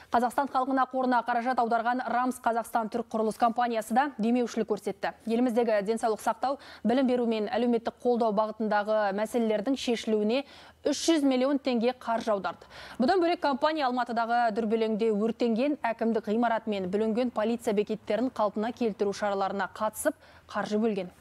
Қазақстан халқына қорына қаражат аударған Рамс Қазақстан Түрік құрылыс компаниясы да демеушілік көрсетті. Еліміздегі денсаулық сақтау, білім беру мен әлеуметтік қолдау бағытындағы мәселелердің шешілуіне 300 миллион теңге қаржы аударды. Бұдан бөлек компания Алматыдағы дүрбелеңде өртенген әкімдік ғимараты мен бүлінген полиция бекеттерін қалпына келтіру шараларына қатысып қаржы бөлген.